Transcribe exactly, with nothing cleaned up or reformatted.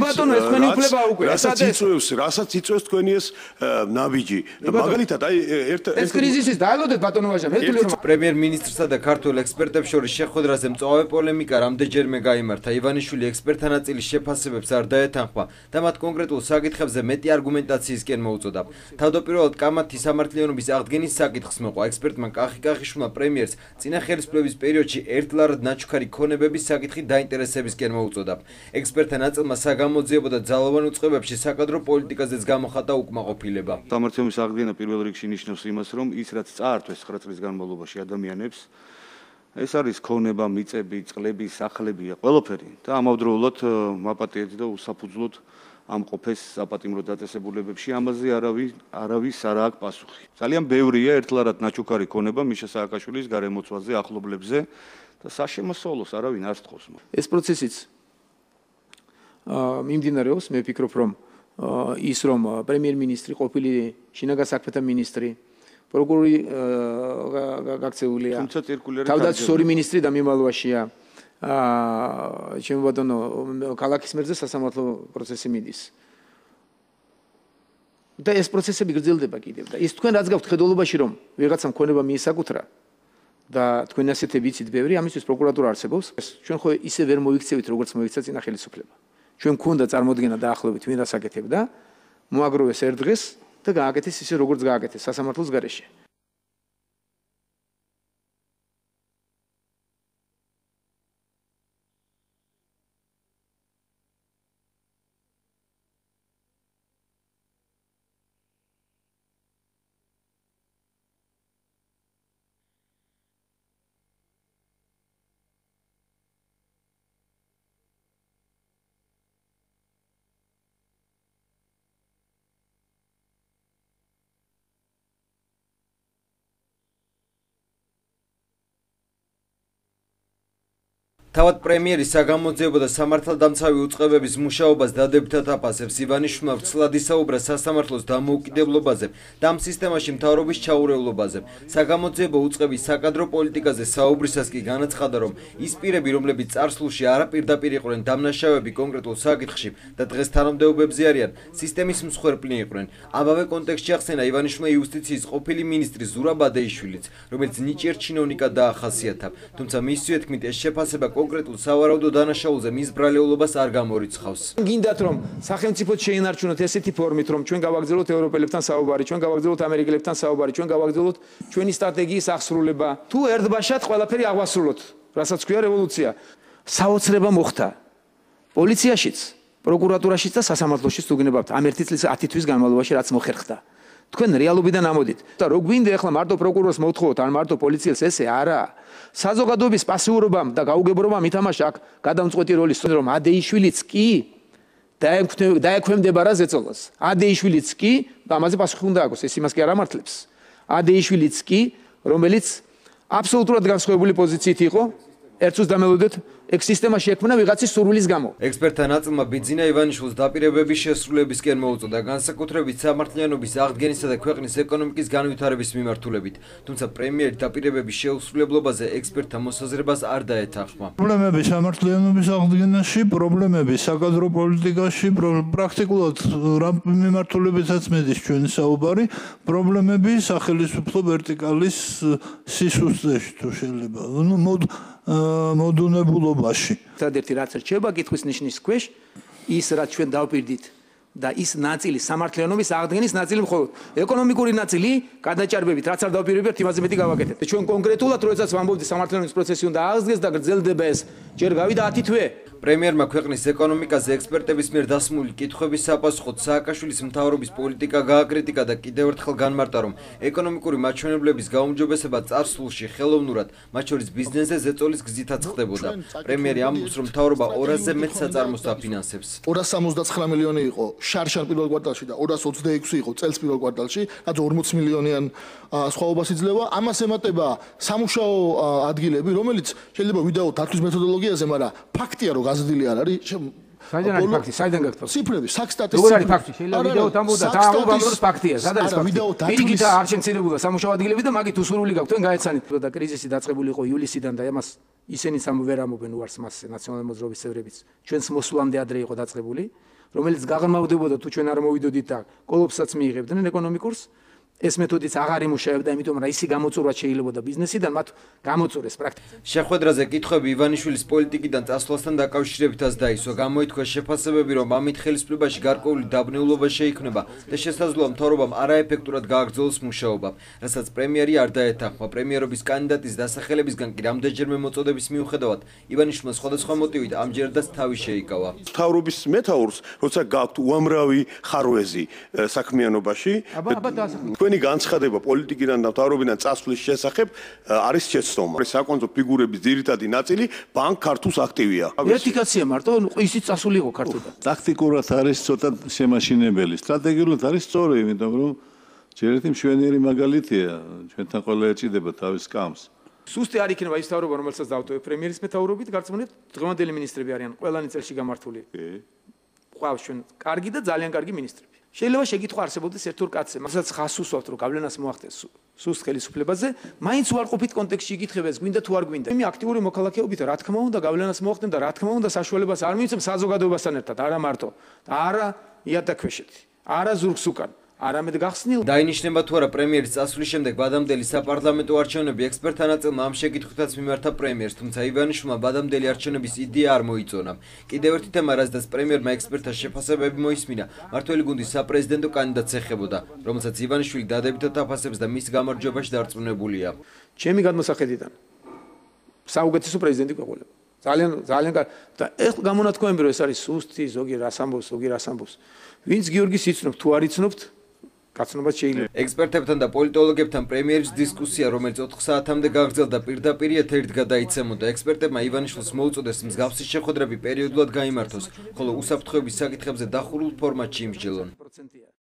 ბატონო, ეს თქვენი უფლება უკვე. რასაც იწვევს, რასაც იწვევს თქვენი ეს ნაბიჯი. მაგალითად, აი ერთ ეს კრიზისის დაალოდეთ ბატონო ვაჟა, მე თვლი რომ პრემიერ-მინისტრსა და ქართულ ექსპერტებს შორის შეხვედრაზე მწვავე პოლემიკა რამდენჯერმე გაიმართა. ივანიშვილი ექსპერტთა ნაწილის შეფასებებს არ დაეთანხმა და მათ კონკრეტულ საკითხებზე მეტი არგუმენტაციისკენ მოუწოდა. თავდაპირველად კამათის სამართლიანობის აღდგენის საკითხს მოყვა. ექსპერტმა კახი კახიშვილმა პრემიერს წინა ხელისუფლების პერიოდში ერთლარად ნაჩუქარი ქონებების საკითხი დაინტერესებისკენ მოუწოდა. ექსპერტთა ნაწილმა საგამოძიებო და ძალოვან უწყებებში საკადრო პოლიტიკაზეც გამოხატა უკმაყოფილება. სამართლიანობის აღდგენა პირველ რიგში ნიშნავს იმას, რომ ის რაც წაართვეს ცხრა წლის განმავლობაში ადამიანებს, ეს არის ქონება, მიწები, წყლები, სახლები, ყველაფერი და ამავდროულად მაპატიეთ და უსაფუძვლოდ ამყოფეს საპატიმრო დაწესებულებებში, ამაზე არავის არავის არ აქვს პასუხი. ძალიან ბევრია ერთლარად ნაჩუქარი ქონება მიშა სააკაშვილის გარემოცვაზე, ახლობლებზე და საშემოსავლოს არავინ არ სთხოვს. ეს პროცესიც მიმდინარეობს, მე ვფიქრობ, რომ ის რომ პრემიერ-მინისტრი, ყოფილი შინაგან საქმეთა მინისტრი, პროკურორი გაქცეულია, თავდაცვის ორი მინისტრი და მიმალვაშია. აა ჩემო ბატონო, ქალაქის მერზე სასამართლო პროცესი მიდის. და ეს პროცესები გრძელდება კიდევ და ის თქვენ რაც გაქვთ ხედულობაში რომ ვიღაცამ ქონება მიისაკუთრა და თქვენ ასეთი ვიცით ბევრი, ამისთვის პროკურატურა არსებობს. ჩვენ ხო ისე ვერ მოიქცევით როგორც მოიქცა წინა ხელისუფლება. ჩვენ გქონდა წარმოდგენა დაახლოებით ვინ რას აკეთებდა, მოაგროვეს ერთ დღეს და გააკეთეს ისე როგორც გააკეთეს სასამართლოს გარეშე. თავად პრემიერი საგამოძიებო და სამართალდამცავი უწყებების მუშაობას დადებითად აფასებს. ივანიშვილმა ვრცლად ისაუბრა სასამართლოს დამოუკიდებლობაზე და ამ სისტემაში მთავრობის ჩაურევლობაზე. საგამოძიებო უწყების საკადრო პოლიტიკაზე საუბრისას კი განაცხადა, რომ ის პირები, რომლებიც წარსულში არაპირდაპირ იყვნენ დამნაშავეები კონკრეტულ საკითხში და დღეს თანამდებობებზე არიან, სისტემის მსხვერპლი იყვნენ. ამავე კონტექსტში ახსენა ივანიშვილმა იუსტიციის ყოფილი მინისტრი ზურაბ ადეიშვილიც, რომელიც ნიჭიერ ჩინოვნიკად დაახასიათა. თუმცა მისივე თქმით, ეს შეფასება კონკრეტულ სავარაუდო დანაშაულზე მის ბრალეულობას არ გამორიცხავს. გინდათ რომ სახელმწიფოდ შეინარჩუნოთ ესეთი ფორმით, რომ ჩვენ გავაგრძელოთ ევროპელებთან საუბარი, ჩვენ გავაგრძელოთ ამერიკელებთან საუბარი, ჩვენ გავაგრძელოთ ჩვენი სტრატეგიის აღსრულება. თუ ერთბაშად ყველაფერი აღვასრულოთ, რასაც ქვია რევოლუცია. საოცრება მოხდა პოლიციაშიც, პროკურატურაშიც და სასამართლოშიც თუ გინებავთ ამ ერთი წლის ათი თვის განმავლობაში რაც მოხერხდა. თქვენ რეალობიდან ამოდით და რო გვინდა ახლა მარტო პროკურორს მოთხოვოთ ან მარტო პოლიციელს ესე არა. საზოგადოების პასიურობამ და გაუგებრობამ ითამაშა აქ გადამწყვეტი როლი, რომ ადეიშვილიც კი დაექვემდება რა ზეწოლას. ადეიშვილიც კი და ამაზე პასუხი უნდა აქვს, ეს იმას კი არ ამართლებს. ადეიშვილიც კი, რომელიც აბსოლუტურად განსხვავებული პოზიციით იყო, ერთს დამელოდეთ ეგ სისტემა შექმნა ვიღაცის სურვილის გამო. ექსპერტთა ნაწილმა ბიძინა ივანიშვილს დაპირებების შესრულებისკენ მოუწოდა, განსაკუთრებით სამართლიანობის აღდგენისა და ქვეყნის ეკონომიკის განვითარების მიმართულებით. თუმცა პრემიერი დაპირებების შეუსრულებლობაზე ექსპერტთა მოსაზრებას არ დაეთანხმა. პრობლემები სამართლიანობის აღდგენაში, პრობლემები საკადრო პოლიტიკაში, პრაქტიკულად რა მიმართულებითაც მედის ჩვენი საუბარი, პრობლემები სახელმწიფო ვერტიკალის სისუსტეში თუ შეიძლება. ნუ მოდუნებულობაში. ერთადერთი რაც რჩება კითხვის ნიშნის ქვეშ, ის რაც ჩვენ დავპირდით და ის ნაწილი სამართლიანობის აღდგენის ნაწილი მხოლოდ. ეკონომიკური ნაწილი გადაჭარბებით, რაც არ დავპირებებთ, იმაზე მეტი გავაკეთეთ. ჩვენ კონკრეტულად როდესაც ვამბობთ სამართლიანობის პროცესი უნდა აღდგეს და გრძელდება ეს, ჯერ გავიდა ათი თვე. პრემიერმა ქვეყნის ეკონომიკაზე ექსპერტების მიერ დასმული კითხვების საპასუხოდ სააკაშვილის მთავრობის პოლიტიკა გააკრიტიკა და კიდევ ერთხელ განმარტა, რომ ეკონომიკური მაჩვენებლების გაუმჯობესება წარსულში ხელოვნურად, მათ შორის ბიზნესზე ზეწოლის გზითაც ხდებოდა. პრემიერი ამბობს, რომ მთავრობა ორასზე მეტ საწარმოს დაფინანსებს. ორას სამოცდაცხრა მილიონი იყო შარშან პირველ კვარტალში და ორას ოცდაექვსი იყო წელს პირველ კვარტალში, რაც ორმოცი მილიონიან სხვაობას იძლევა. ამას ემატება სამუშაო ადგილები, რომელიც შეიძლება ვიდეოთ დათვლის მეთოდოლოგიაზე, მაგრამ ფაქტია, რომ გაზრდილი არ არის. საიდან არის ფაქტი? საიდან გაქვთ? ციფრები, საქსტატის როგორ არის ფაქტი? შეიძლება ვიდეოთ ამბობდა და ამბობს ფაქტია. სად არის ფაქტი? პირიქით არ შემცირებულა სამუშაო ადგილები და მაგით უსურვილი გაქვთ, თქვენ გაეცანით და კრიზისი დაწყებული იყო ივლისიდან და ამას ისინიც ამ ვერ ამობენ უარს მასზე ნაციონალური მოძრაობის წევრებიც. ჩვენს მოსვლამდე ადრე იყო დაწყებული. რომელიც გაღრმავდებოდა თუ ჩვენ არ მოვიდოდით და კოლოფსაც მიიღებდნენ ეკონომიკურს. ეს მეთოდიც აღარ იმუშავებდა, იმიტომ რომ ისი გამოწურვა შეიძლებოდა ბიზნესიდან, მათ გამოწურეს პრაქტიკულად. შეხვედრაზე კითხვები ივანიშვილის პოლიტიკიდან წასვლასთან დაკავშირებითაც დაისვა. გამოითქვა შეფასებები, რომ ამით ხელისუფლებაში გარკვეული დაბნეულობა შეიქმნება და შესაძლოა მთავრობამ არაეფექტურად გააგრძელოს მუშაობა, რასაც პრემიერი არ დაეთანხმა. პრემიერობის კანდიდატის დასახელებისგან კი რამდენჯერმე მოწოდების მიუხედავად, ივანიშვილმა სხვადასხვა მოტივით ამჯერადაც თავი შეიკავა. მთავრობის მეთაურს, როცა გაქვთ უამრავი ხარვეზი საქმიანობაში, თქვენი განცხადება პოლიტიკიდან და მთავრობიდან წასვლის შესახებ არის შეცდომა. საკონცო ფიგურების ძირითადი ნაწილი ბანკ ქართულს აქტივია. ერთი კაცია მარტო, ისიც წასული იყო ქართულთან. ტაქტიკურად არის ცოტა შემაშინებელი, სტრატეგიულად არის სწორი, იმიტომ რომ ჯერ ერთი მშვენიერი მაგალითია, ჩვენთან ყველა ეჭიდება თავის კამს. სუსტი არ იქნება ის მთავრობა, რომელსაც დავტოვებ პრემიერის მეთაურობით, გარწმუნებთ, დღევანდელი მინისტრები არიან ყველანი წელში გამართული. ყავს ჩვენ კარგი და ძალიან კარგი მინისტრები. შეიძლება შეკითხვა არსებობდეს ერთ-ორ კაცზე, მასაც ხას უსვამთ, რომ გავლენას მოახდენს სუსტ ხელისუფლებაზე, მაინც უარყოფით კონტექსტში იკითხებეს, გვინდა თუ არ გვინდა. იმი აქტიური მოქალაქეობით რა თქმა უნდა გავლენას მოახდენ და რა თქმა უნდა საშუალებას არ მივიცემ საზოგადოებასთან ერთად, არა მარტო და არა იატაკქვეშეთი, არა ზურგს უკან. არამედ გახსნილ დაინიშნება თუ არა პრემიერის წასვლის შემდეგ ბადამდელი საპარლამენტო არჩევნები ექსპერტთა ნაწილმა ამ შეკითხვითაც მიმართა პრემიერს, თუმცა ივანიშვილმა ბადამდელი არჩევნების იდეა არ მოიწონა. კიდევ ერთი თემა, რაზეც პრემიერმა ექსპერტთა შეფასებები მოისმინა, მართველი გუნდის საპრეზიდენტო კანდიდატს ეხებოდა, რომელსაც ივანიშვილი დადებითად აფასებს და მის გამარჯვებაში დარწმუნებულია. ჩემი გადმოსახედიდან საუკეთესო პრეზიდენტი გვეყოლება. ძალიან ძალიან და ეხლა გამონათქვამები რომ ეს არის სუსტი, ზოგი რას ამბობს, ზოგი რას ამბობს. ვინც გიორგის იცნობთ, თუ არ იცნობთ, კაცნობას შეიძლება. ექსპერტებთან და პოლიტოლოგებთან პრემიერის დისკუსია, რომელიც ოთხ საათამდე გაგრძელდა, პირდაპირ ეთერით გადაიცემოდა. ექსპერტებმა ივანიშვილს მოუწოდეს მსგავსი შეხვედრები პერიოდულად გაიმართოს, ხოლო უსაფრთხოების საკითხებზე დახურულ ფორმატში იმსჯელონ.